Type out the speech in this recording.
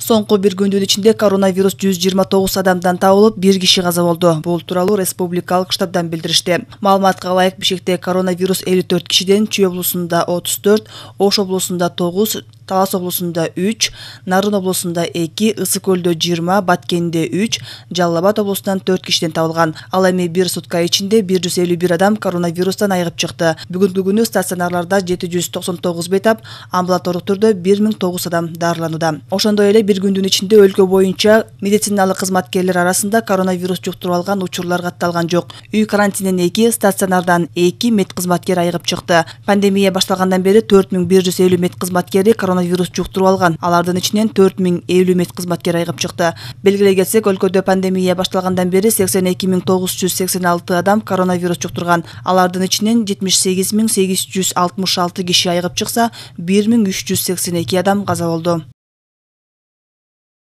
Соңку бир күндүн ичинде коронавирус 129 адамдан табылып, 1 киши каза болду. Бул тууралуу республикалык штабдан билдиришти. Маалыматка ылайык, Бишкекте коронавирус 54 кишиден, Чүй облусунда 34, Ош облусунда 9, Талас облусунда 3, Нарын облусунда 2, Ысык көлдө 20, Баткенде 3, Жалал Абад облусунан 4 кишиден табылган. Ал эми бир сутка ичинде 151 адам коронавирустан айыгып чыкты. Бүгүнкү күнү стационарларда 799 бейтап, амбулатордук түрдө 1009 адам дарыланууда. Ошондой эле бир күндүн ичинде өлкө боюнча медициналык кызматкерлер арасында коронавирус жуктуруп алган учурлар катталган жок. Үй карантининен 2, стационардан 2 медкызматкер айыгып чыкты. Пандемия башталгандан бери 4150 медкызматкери коронавирус жуктуруп алган. Алардын ичинен 4050 медкызматкер айыгып чыкты. Белгилей кетсек, өлкөдө пандемия башталгандан бери 82986 адам коронавирус жуктурган. Алардын ичинен 78866 киши айыгып чыкса, 1382 адам каза болду.